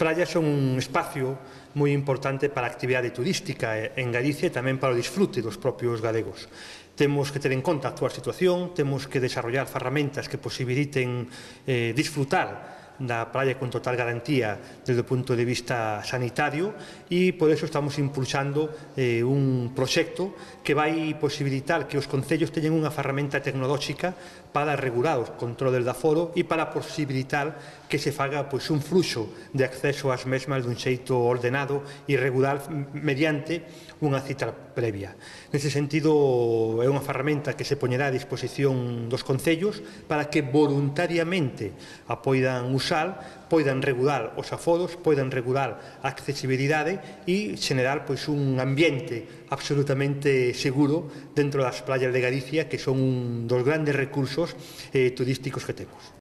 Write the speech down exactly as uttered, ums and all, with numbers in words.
praias son un espacio moi importante para a actividade turística en Galicia e tamén para o disfrute dos propios galegos. Temos que ter en conta a actual situación, temos que desarrollar ferramentas que posibiliten eh, disfrutar da praia con total garantía desde o punto de vista sanitario e por eso estamos impulsando eh, un proxecto que vai posibilitar que os concellos teñan unha ferramenta tecnolóxica para regular os controles de aforo e para posibilitar que se faga pois, un fluxo de acceso ás mesmas dun xeito ordenado e regular mediante unha cita previa. Nese sentido, é unha ferramenta que se poñerá a disposición dos concellos para que voluntariamente a poidan usar, poidan regular os aforos, poidan regular a accesibilidade e xenerar pois, un ambiente absolutamente seguro dentro das praias de Galicia, que son un dos grandes recursos eh, turísticos que temos.